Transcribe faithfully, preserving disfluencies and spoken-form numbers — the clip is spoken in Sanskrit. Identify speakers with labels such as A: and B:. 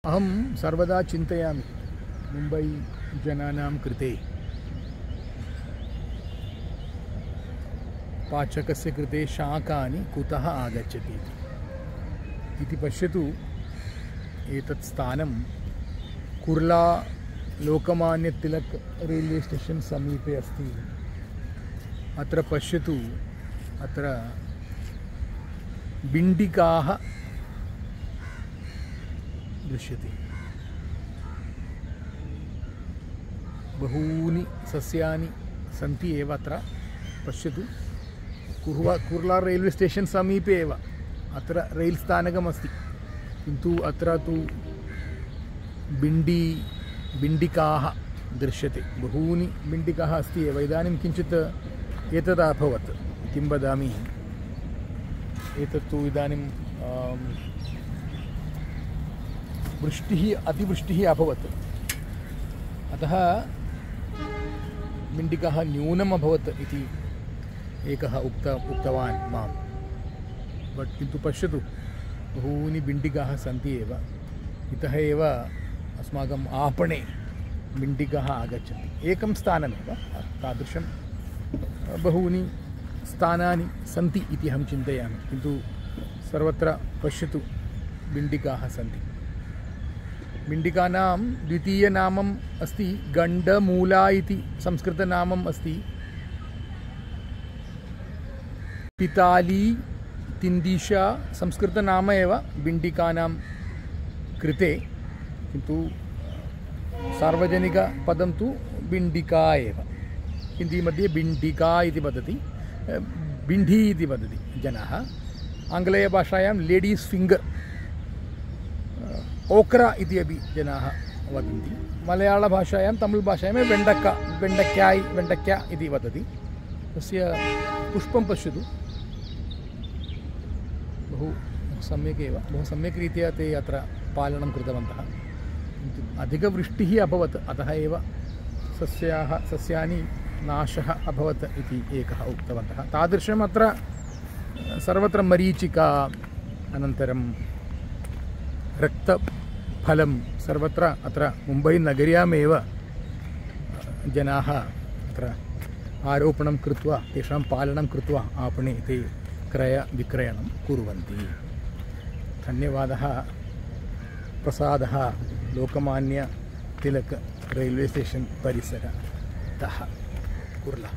A: अहं सर्वदा चिन्तयामि मुम्बै जनानां कृते पाचकस्य कृते शाकानि कुतः आगच्छति इति पश्यतु। एतत् स्थानं कुर्ला लोकमान्य तिलक रेल्वे स्टेशन समीपे अस्ति। अत्र पश्यतु, अत्र बिण्डिकाः दृश्यते। बहूनि सस्यानि सन्ति एव अत्र। पश्यतु, कुर्वा कुर्ला रेल्वे स्टेशन समीपे एव अत्र रैल् स्थानकमस्ति, किन्तु अत्र तु बिण्डी बिण्डिकाः दृश्यते। बहूनि बिण्डिकाः अस्ति एव। इदानीं किञ्चित् एतद् अभवत्, किं वदामि, एतत्तु इदानीं वृष्टिः अतिवृष्टिः अभवत्, अतः बिण्डिकाः न्यूनम् अभवत् इति एकः उक्त उक्तवान् मां। बट् किन्तु पश्यतु, बहूनि बिण्डिकाः सन्ति एव। इतः एव अस्माकम् आपणे बिण्डिकाः आगच्छन्ति। एकं स्थानमेव, तादृशं बहूनि स्थानानि सन्ति इति अहं चिन्तयामि, किन्तु सर्वत्र पश्यतु बिण्डिकाः सन्ति। बिण्डिकानां द्वितीयनामम् अस्ति गण्डमूला इति संस्कृतनामम् अस्ति। पिताली तिन्दिशा संस्कृतनाम एव बिण्डिकानां कृते, किन्तु सार्वजनिकपदं तु बिण्डिका एव। हिन्दीमध्ये बिण्डिका इति वदति, बिण्डी इति वदति जनाः। आङ्ग्लेयभाषायां लेडीस् फिङ्गर्, ओक्रा इति अपि जनाः वदन्ति। मलयाळभाषायां तमिळ्भाषायां वेण्डक्का वेण्डक्याय् वेण्डक्या इति वदति। तस्य पुष्पं पश्यतु, बहु सम्यक् एव, बहु सम्यक् रीत्या ते अत्र पालनं कृतवन्तः। किन्तु अधिकवृष्टिः अभवत्, अतः एव सस्याः सस्यानि नाशः अभवत् इति एकः उक्तवन्तः। तादृशम् अत्र सर्वत्र मरीचिका, अनन्तरं रक्तफलं सर्वत्र अत्र मुम्बैनगर्यामेव जनाः अत्र आरोपणं कृत्वा, तेषां पालनं कृत्वा आपणे ते क्रयविक्रयणं कुर्वन्ति। धन्यवादः। प्रसादः, लोकमान्य तिलक रेल्वे स्टेशन परिसरतः, कुर्ला।